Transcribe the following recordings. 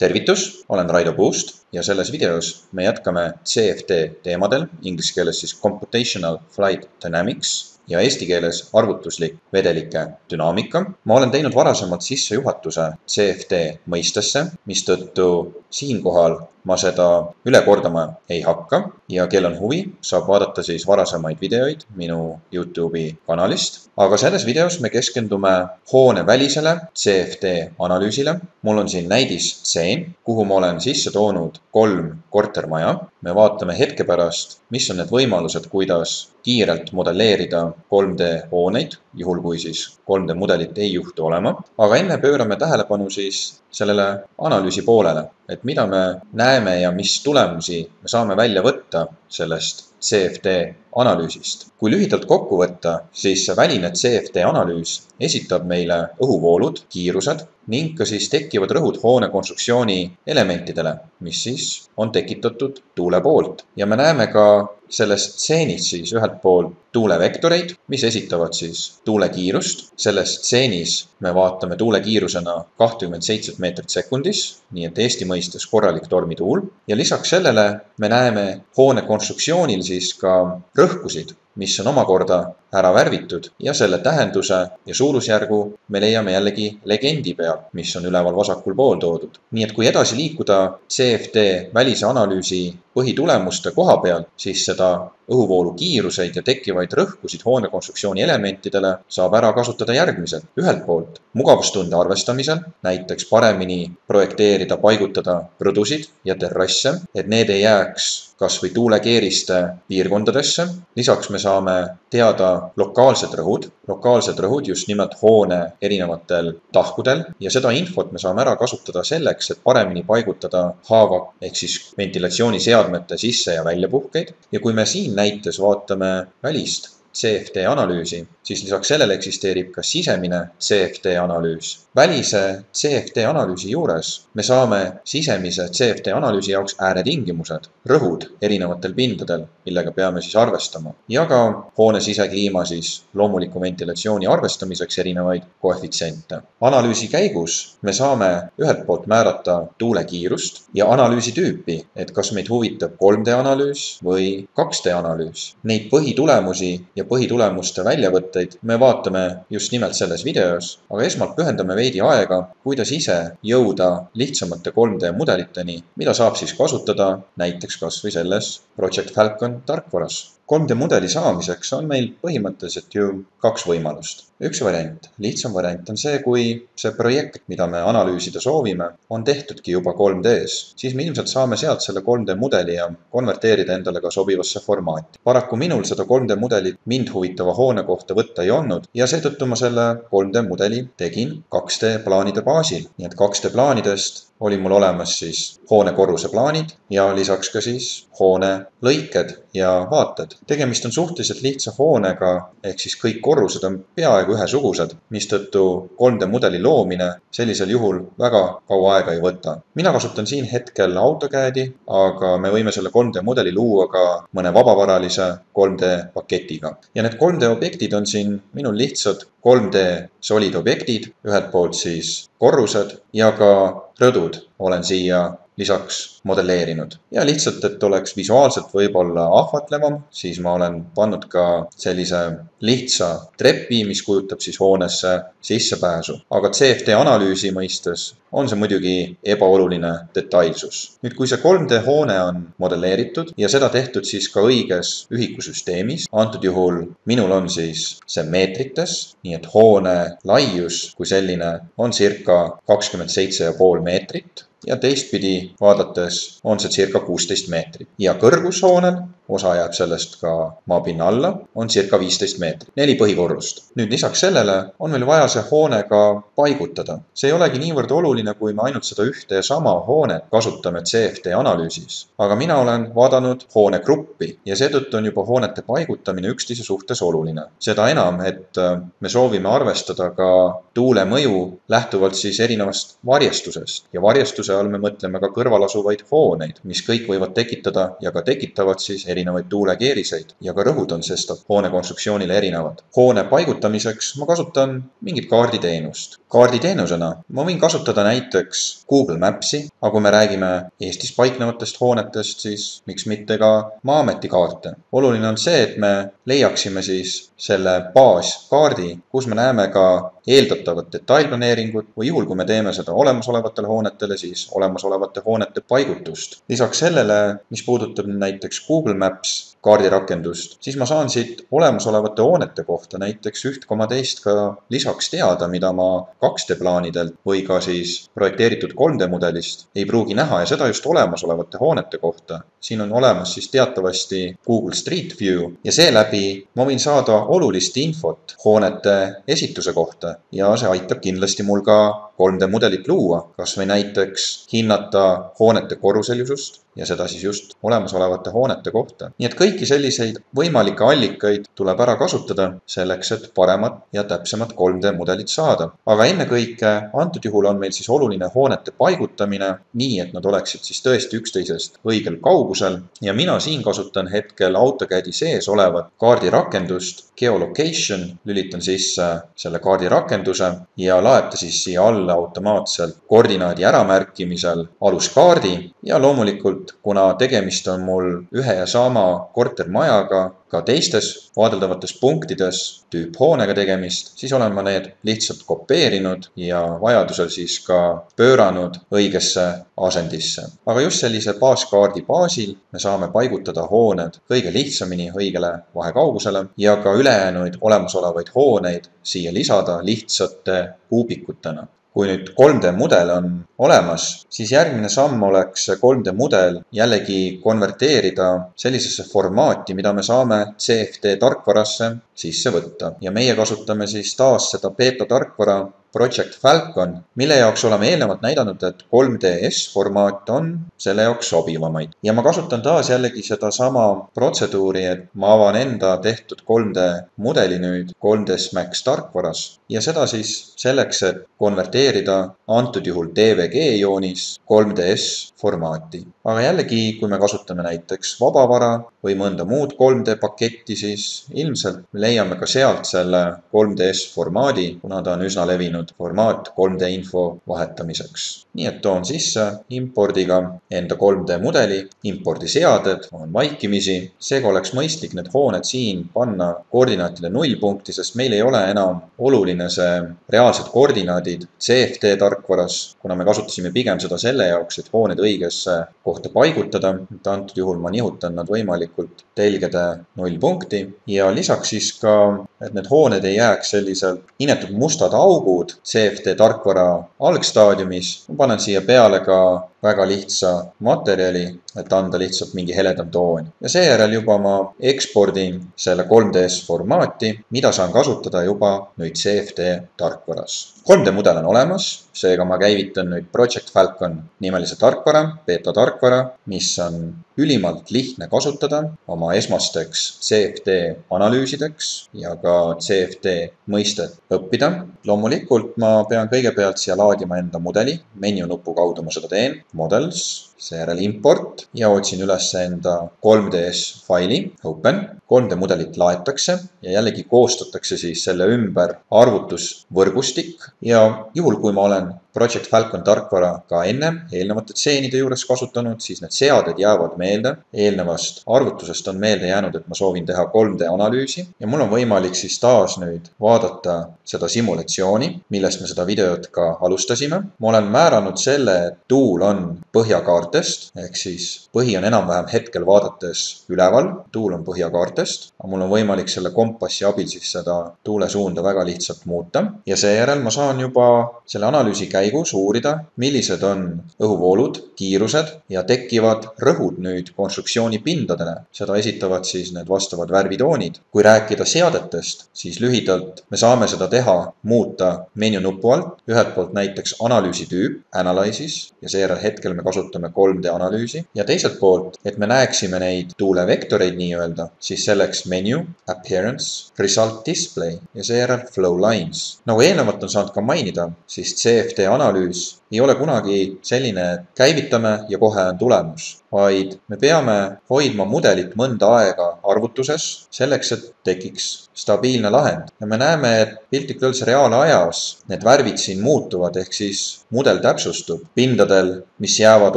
Tervitus, olen Raido Puust ja selles videos me jätkame CFD teemadel, inglise keeles siis Computational Flight Dynamics ja eesti keeles arvutuslik vedelike dünaamika. Ma olen teinud varasemalt sissejuhatuse CFD mõistesse, mistõttu siinkohal ma seda üle kordama ei hakka ja kel on huvi, saab vaadata siis varasemaid videoid minu YouTube'i kanalist. Aga selles videos me keskendume hoone välisele CFD analüüsile. Mul on siin näidisstseen, kuhu ma olen sisse toonud 3 kortermaja. Me vaatame hetke pärast, mis on need võimalused, kuidas kiirelt modelleerida 3D hooneid, juhul kui siis 3D mudelit ei juhtu olema. Aga enne pöörame tähelepanu siis sellele analüüsi poolele, et mida me näeme ja mis tulemusi me saame välja võtta sellest CFD analüüsist. Kui lühidalt kokku võtta, siis see väline CFD analüüs esitab meile õhuvoolud, kiirused ning ka siis tekkivad rõhud hoone konstruktsiooni elementidele, mis siis on tekitatud tuule poolt. Ja me näeme ka selles stseenis siis ühelt poolt tuulevektoreid, mis esitavad siis tuule kiirust. Selles stseenis me vaatame tuule kiirusena 27 meetrit sekundis, nii et Eesti mõistes korralik tormituul. Ja lisaks sellele me näeme hoone konstruktsioonil siis ka rõhkusid, mis on omakorda ära värvitud ja selle tähenduse ja suurusjärgu me leiame jällegi legendi peal, mis on üleval vasakul pool toodud. Nii et kui edasi liikuda CFD välise analüüsi põhitulemuste koha peal, siis seda õhuvoolu kiiruseid ja tekkivaid rõhkusid hoone konstruktsiooni elementidele saab ära kasutada järgmiselt. Ühelt poolt mugavustunde arvestamisel, näiteks paremini projekteerida, paigutada rõdusid ja terrasse, et need ei jääks kas või tuulekeeriste piirkondadesse. Lisaks me saame teada lokaalsed rõhud just nimelt hoone erinevatel tahkudel ja seda infot me saame ära kasutada selleks, et paremini paigutada haava ehk siis ventilatsiooniseadmete sisse- ja väljapuhkeid. Ja kui me siin näites vaatame välist CFD analüüsi, siis lisaks sellele eksisteerib ka sisemine CFD analüüs. Välise CFD analüüsi juures me saame sisemise CFD analüüsi jaoks ääretingimused, rõhud erinevatel pindadel, millega peame siis arvestama. Ja ka hoone sisekliima siis loomuliku ventilatsiooni arvestamiseks erinevaid koefitsiente. Analüüsi käigus me saame ühelt poolt määrata tuule kiirust ja analüüsi tüüpi, et kas meid huvitab 3D analüüs või 2D analüüs. Neid põhitulemusi ja põhitulemuste väljavõtteid me vaatame just nimelt selles videos, aga esmalt pühendame veidi aega, kuidas ise jõuda lihtsamate 3D mudeliteni, mida saab siis kasutada näiteks kas või selles Project Falcon tarkvaras. 3D mudeli saamiseks on meil põhimõtteliselt ju 2 võimalust. Üks variant, lihtsam variant on see, kui see projekt, mida me analüüsida soovime, on tehtudki juba 3D-s. Siis me ilmselt saame sealt selle 3D mudeli ja konverteerida endale ka sobivasse formaati. Paraku minul seda 3D mudelit mind huvitava hoone kohta võtta ei olnud ja seetõttu ma selle 3D mudeli tegin 2D plaanide baasil. Nii et 2D plaanidest oli mul olemas siis hoone korruse plaanid ja lisaks ka siis hoone lõiked ja vaated. Tegemist on suhteliselt lihtsa hoonega, ehk siis kõik korrused on peaaegu ühesugused, mistõttu 3D mudeli loomine sellisel juhul väga kaua aega ei võta. Mina kasutan siin hetkel AutoCAD-i, aga me võime selle 3D mudeli luua ka mõne vabavaralise 3D paketiga. Ja need 3D objektid on siin minul lihtsad 3D solid objektid, ühelt poolt siis korrused ja ka rõdud olen siia lisaks modelleerinud. Ja lihtsalt, et oleks visuaalselt võib-olla ahvatlevam, siis ma olen pannud ka sellise lihtsa trepi, mis kujutab siis hoonesse sissepääsu. Aga CFD analüüsi mõistes on see muidugi ebaoluline detailsus. Nüüd, kui see 3D hoone on modelleeritud ja seda tehtud siis ka õiges ühikusüsteemis, antud juhul minul on siis see meetrites, nii et hoone laius kui selline on circa 27,5 meetrit. Ja teistpidi vaadates on see circa 16 meetrit. Ja kõrgushoonel, osa jääb sellest ka maapinna alla, on circa 15 meetrit. 4 põhikorrust. Nüüd lisaks sellele on meil vaja see hoone ka paigutada. See ei olegi niivõrd oluline, kui me ainult seda ühte ja sama hoonet kasutame CFD analüüsis. Aga mina olen vaadanud hoonegruppi ja seetõttu on juba hoonete paigutamine üksteise suhtes oluline. Seda enam, et me soovime arvestada ka tuule mõju lähtuvalt siis erinevast varjestusest. Ja varjestused paigutuse all me mõtleme ka kõrval asuvaid hooneid, mis kõik võivad tekitada ja ka tekitavad siis erinevaid tuulekeeriseid ja ka rõhud on sestap hoone konstruktsioonile erinevad. Hoone paigutamiseks ma kasutan mingit kaarditeenust. Kaarditeenusena ma võin kasutada näiteks Google Mapsi, aga kui me räägime Eestis paiknevatest hoonetest, siis miks mitte ka Maa-ameti kaarte. Oluline on see, et me leiaksime siis selle baaskaardi, kus me näeme ka eeldatavat detailplaneeringut või juhul, kui me teeme seda olemasolevatele hoonetele, siis olemasolevate hoonete paigutust. Lisaks sellele, mis puudutab näiteks Google Maps kaardirakendust, siis ma saan siit olemasolevate hoonete kohta näiteks 1,2 ka lisaks teada, mida ma 2D plaanidelt või ka siis projekteeritud 3D mudelist ei pruugi näha ja seda just olemasolevate hoonete kohta. Siin on olemas siis teatavasti Google Street View ja seeläbi ma võin saada olulist infot hoonete esituse kohta ja see aitab kindlasti mul ka 3D mudelit luua, kas või näiteks hinnata hoonete korruselisust ja seda siis just olemasolevate hoonete kohta. Nii et kõiki selliseid võimalikke allikaid tuleb ära kasutada selleks, et paremat ja täpsemat 3D mudelit saada. Aga ennekõike antud juhul on meil siis oluline hoonete paigutamine nii, et nad oleksid siis tõesti üksteisest õigel kaugusel ja mina siin kasutan hetkel AutoCAD-i sees olevat kaardirakendust Geolocation, lülitan sisse selle kaardirakenduse ja laeb ta siis siia alla automaatselt koordinaadi äramärkimisel aluskaardi ja loomulikult, kuna tegemist on mul ühe ja sama kortermajaga, ka teistes vaadeldavates punktides tüüphoonega tegemist, siis olen ma need lihtsalt kopeerinud ja vajadusel siis ka pööranud õigesse asendisse. Aga just sellise baaskaardi baasil me saame paigutada hooned kõige lihtsamini õigele vahekaugusele ja ka ülejäänuid olemasolevaid hooneid siia lisada lihtsate kuubikutena. Kui nüüd 3D mudel on olemas, siis järgmine samm oleks 3D mudel jällegi konverteerida sellisesse formaati, mida me saame CFD tarkvarasse sisse võtta. Ja meie kasutame siis taas seda beta tarkvara Project Falcon, mille jaoks oleme eelnevalt näidanud, et 3DS formaat on selle jaoks sobivamaid. Ja ma kasutan taas jällegi seda sama protseduuri, et ma avan enda tehtud 3D mudeli nüüd 3ds Max tarkvaras ja seda siis selleks, et konverteerida antud juhul DVG joonis 3DS formaati. Aga jällegi, kui me kasutame näiteks vabavara või mõnda muud 3D paketti, siis ilmselt me leiame ka sealt selle 3DS formaadi, kuna ta on üsna levinud formaat 3D info vahetamiseks. Nii et toon sisse impordiga enda 3D mudeli, impordiseaded on vaikimisi. Seega oleks mõistlik need hooned siin panna koordinaatide nullpunkti, sest meil ei ole enam oluline see reaalsed koordinaadid CFD tarkvaras, kuna me kasutasime pigem seda selle jaoks, et hooned õigesse kohta paigutada. Antud juhul ma nihutan nad võimalikult telgede nullpunkti ja lisaks siis ka, et need hooned ei jääks selliselt inetud mustad augud CFD tarkvara algstaadiumis. Ma panen siia peale ka väga lihtsa materjali, et anda lihtsalt mingi heledam toon. Ja seejärel juba ma ekspordin selle 3DS formaati, mida saan kasutada juba nüüd CFD tarkvaras. 3D mudel on olemas, seega ma käivitan nüüd Project Falcon nimelise tarkvara, beta tarkvara, mis on ülimalt lihtne kasutada oma esmasteks CFD analüüsideks ja ka CFD mõistet õppida. Loomulikult ma pean kõigepealt siia laadima enda mudeli, menu nupu kaudu ma seda teen, Models, seejärel import ja otsin üles enda 3DS faili, open. 3D mudelit laetakse ja jällegi koostatakse siis selle ümber arvutusvõrgustik ja juhul, kui ma olen Project Falcon tarkvara ka eelnevate tseenide juures kasutanud, siis need seaded jäävad meelde. Eelnevast arvutusest on meelde jäänud, et ma soovin teha 3D analüüsi ja mul on võimalik siis taas nüüd vaadata seda simulatsiooni, millest me seda videot ka alustasime. Ma olen määranud selle, et tuul on põhjakaartest, ehk siis põhi on enam-vähem hetkel vaadates üleval, tuul on põhjakaartest, aga mul on võimalik selle kompassi abil siis seda tuule suunda väga lihtsalt muuta ja seejärel ma saan juba selle analüüsi käigus uurida, millised on õhuvoolud, kiirused ja tekkivad rõhud nüüd konstruktsiooni pindadele. Seda esitavad siis need vastavad värvitoonid. Kui rääkida seadetest, siis lühidalt me saame seda teha, muuta menu nupu alt, ühelt poolt näiteks analüüsi tüüp, Analysis, ja seejärel hetkel me kasutame 3D analüüsi ja teiselt poolt, et me näeksime neid tuulevektoreid nii-öelda, siis selleks menu, Appearance, Result Display ja seejärel Flow Lines. Nagu eelnevalt on saanud ka mainida, siis CFD analüüs ei ole kunagi selline, et käivitame ja kohe on tulemus, vaid me peame hoidma mudelit mõnda aega arvutuses selleks, et tekiks stabiilne lahend. Ja me näeme, et piltlikult öeldes reaalajas need värvid siin muutuvad, ehk siis mudel täpsustub pindadel, mis jäävad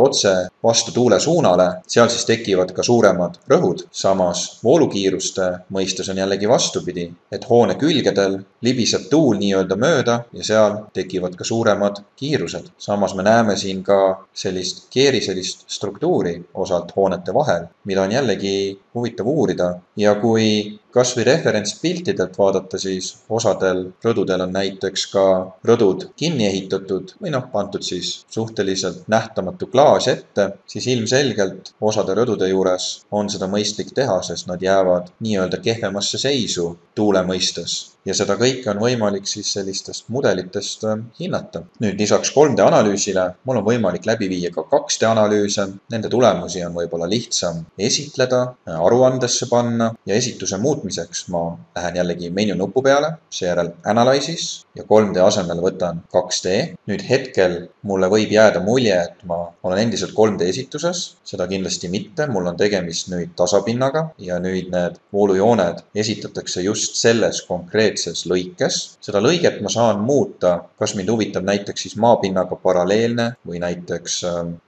otse vastu tuule suunale, seal siis tekivad ka suuremad rõhud. Samas voolukiiruste mõistes on jällegi vastupidi, et hoone külgedel libiseb tuul nii-öelda mööda ja seal tekivad ka suuremad kiirused. Samas me näeme siin ka sellist keeriselist struktuuri osalt hoonete vahel, mida on jällegi huvitav uurida. Ja kui kas või referentspiltidelt vaadata, siis osadel rõdudel on näiteks ka rõdud kinni ehitatud või pandud siis suhteliselt nähtamatu klaas ette, siis ilmselgelt osade rõdude juures on seda mõistlik teha, sest nad jäävad nii-öelda kehvemasse seisu tuule mõistes. Ja seda kõike on võimalik siis sellistest mudelitest hinnata. Nüüd lisaks 3D analüüsile mul on võimalik läbi viia ka 2D analüüse. Nende tulemusi on võib-olla lihtsam esitleda, aruandesse panna ja esituse muutmiseks ma lähen jällegi menu nupu peale, seejärel Analysis ja 3D asemel võtan 2D. Nüüd hetkel mulle võib jääda mulje, et ma olen endiselt 3D esituses, seda kindlasti mitte. Mul on tegemist nüüd tasapinnaga ja nüüd need voolujooned esitatakse just selles konkreetses lõikes. Seda lõiget ma saan muuta, kas mind huvitab näiteks siis maapinnaga paralleelne või näiteks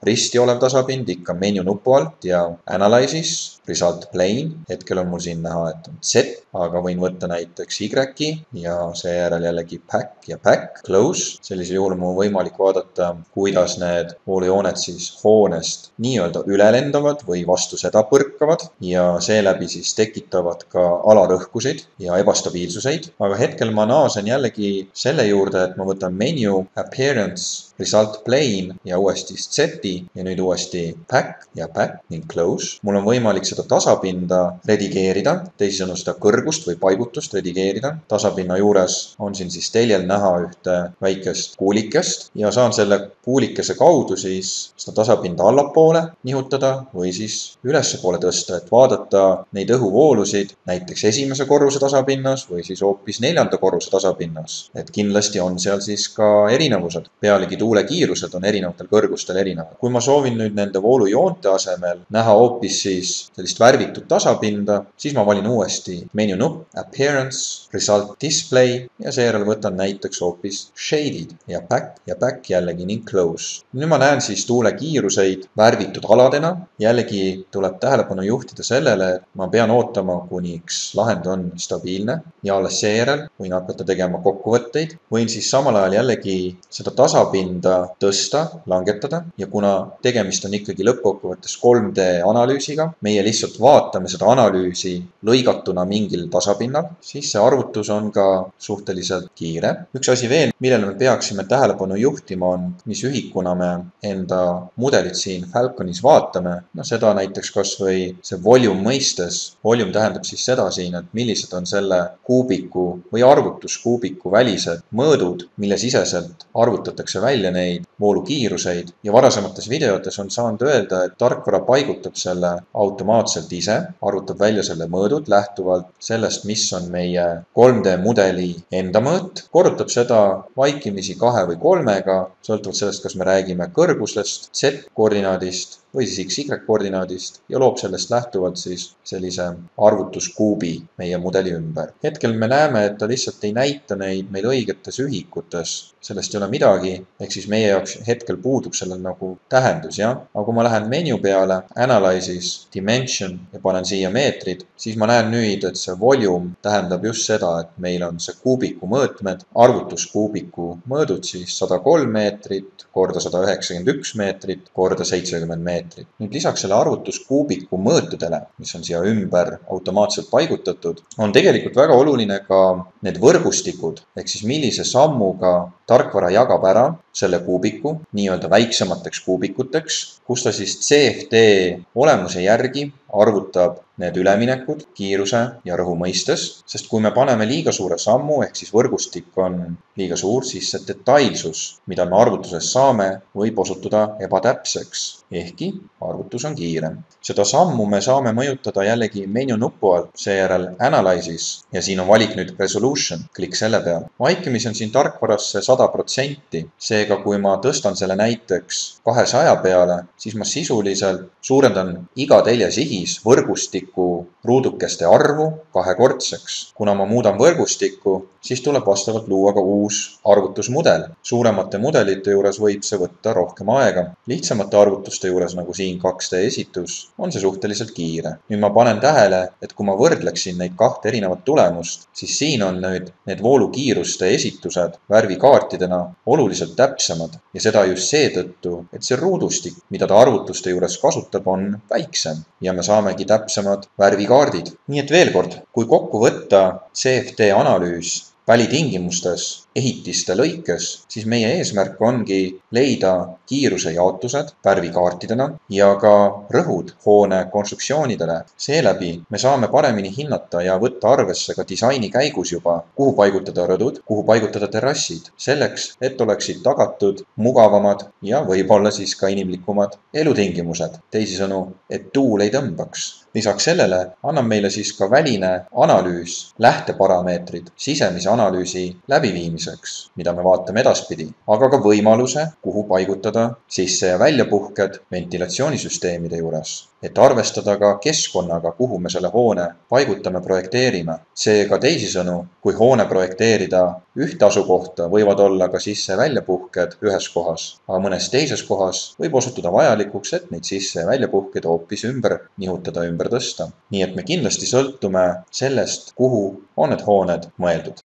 risti olev tasapind ikka menu nupu alt ja Analysis, Result Plane. Hetkel on mul siin näha, et on Z, aga võin võtta näiteks Y ja seejärel jällegi Pack ja Pack, Close. Sellisel juhul mul on võimalik vaadata, kuidas need voolujooned siis hoonest nii-öelda üle lendavad või vastu seda põrkavad ja seeläbi siis tekitavad ka alarõhkusid ja ebastabiilsuseid. Aga hetkel ma naasen jällegi selle juurde, et ma võtan menu, Appearance, Result Plane ja uuesti Z-i ja nüüd uuesti Pack ja Pack ning Close. Mul on võimalik seda tasapinda redigeerida, teisisõnu seda kõrgust või paigutust redigeerida. Tasapinna juures on siin siis teljel näha ühte väikest kuulikest ja saan selle kuulikese kaudu siis seda tasapinda allapoole nihutada või siis ülespoole tõsta, et vaadata neid õhuvoolusid näiteks esimese korruse tasapinnas või siis hoopis 4. korruse tasapinnas. Et kindlasti on seal siis ka erinevused. Pealegi tuule kiirused on erinevatel kõrgustel erinevad. Kui ma soovin nüüd nende voolujoonte asemel näha hoopis siis sellist värvitud tasapinda, siis ma valin uuesti menu nupp, Appearance, Result Display ja seejärel võtan näiteks hoopis Shaded ja Pack jällegi ning Close. Nüüd ma näen siis tuule kiiruseid värvitud aladena. Jällegi tuleb tähelepanu juhtida sellele, et ma pean ootama, kuniks lahend on stabiilne ja alles seejärel võin hakata tegema kokkuvõtteid. Võin siis samal ajal jällegi seda tasapinda tõsta, langetada ja kuna tegemist on ikkagi lõppkokkuvõttes 3D analüüsiga, meie lihtsalt vaatame seda analüüsi lõigatuna mingil tasapinnal, siis see arvutus on ka suhteliselt kiire. Üks asi veel, millele me peaksime tähelepanu juhtima on, mis ühikuna me enda mudelit siin Falconis vaatame. Seda näiteks kas või see volume mõistes. Volume tähendab siis seda siin, et millised on selle kuubiku või arvutuskuubiku välised mõõdud, mille siseselt arvutatakse välja neid voolukiiruseid ja varasemates videotes on saanud öelda, et tarkvara paigutab selle automaatselt ise, arvutab välja selle mõõdud lähtuvalt sellest, mis on meie 3D mudeli enda mõõt, korrutab seda vaikimisi 2 või 3-ga, sõltuvalt sellest, kas me räägime kõrgusest, Z-koordinaadist või siis XY-koordinaadist ja loob sellest lähtuvalt siis sellise arvutuskuubi meie mudeli ümber. Hetkel me näeme, et ta lihtsalt ei näita neid meil õigetes ühikutes, sellest ei ole midagi, ehk siis meie jaoks hetkel puudub sellel nagu tähendus, jah. Aga kui ma lähen menu peale, Analysis, Dimension ja panen siia meetrid, siis ma näen nüüd, et see volume tähendab just seda, et meil on see kuubiku mõõtmed, arvutuskuubiku mõõdud siis 103 meetrit korda 191 meetrit korda 70 meetrit. Nüüd lisaks selle arvutuskuubiku mõõtudele, mis on siia ümber automaatselt paigutatud, on tegelikult väga oluline ka need võrgustikud, ehk siis millise sammuga tarkvara jagab ära selle kuubiku nii-öelda väiksemateks kuubikuteks, kus ta siis CFD olemuse järgi arvutab need üleminekud kiiruse ja rõhu mõistes, sest kui me paneme liiga suure sammu, ehk siis võrgustik on liiga suur, siis see detailsus, mida me arvutuses saame, võib osutuda ebatäpseks, ehkki arvutus on kiirem. Seda sammu me saame mõjutada jällegi menu nupu alt, seejärel Analysis ja siin on valik nüüd Resolution, klikk selle peal. Vaikimisi on siin tarkvarasse 100%, seega Seega, kui ma tõstan selle näiteks 200 peale, siis ma sisuliselt suurendan iga teljesihis võrgustiku ruudukeste arvu kahekordseks. Kuna ma muudan võrgustikku, siis tuleb vastavalt luua ka uus arvutusmudel. Suuremate mudelite juures võib see võtta rohkem aega. Lihtsamate arvutuste juures, nagu siin 2D esitus, on see suhteliselt kiire. Nüüd ma panen tähele, et kui ma võrdleksin neid kahte erinevat tulemust, siis siin on nüüd need voolukiiruste esitused värvikaartidena oluliselt täpsemad ja seda just seetõttu, et see ruudustik, mida ta arvutuste juures kasutab, on väiksem ja me saamegi täpsemad värvikaardid. Nii et veel kord, kui kokku võtta CFD analüüs välitingimustes ehitiste lõikes, siis meie eesmärk ongi leida kiiruse jaotused värvikaartidena ja ka rõhud hoone konstruktsioonidele. Seeläbi me saame paremini hinnata ja võtta arvesse ka disaini käigus juba, kuhu paigutada rõdud, kuhu paigutada terrassid, selleks, et oleksid tagatud mugavamad ja võib-olla siis ka inimlikumad elutingimused. Teisisõnu, et tuul ei tõmbaks. Lisaks sellele annab meile siis ka väline analüüs, lähteparameetrid sisemise analüüsi läbiviimiseks, mida me vaatame edaspidi, aga ka võimaluse, kuhu paigutada sisse- ja väljapuhked ventilatsioonisüsteemide juures, et arvestada ka keskkonnaga, kuhu me selle hoone paigutame, projekteerime. Seega teisisõnu, kui hoone projekteerida ühte asukohta, võivad olla ka sisse- ja väljapuhked ühes kohas, aga mõnes teises kohas võib osutuda vajalikuks, et neid sisse- ja väljapuhked hoopis ümber nihutada, ümber tõsta. Nii et me kindlasti sõltume sellest, kuhu on need hooned mõeldud.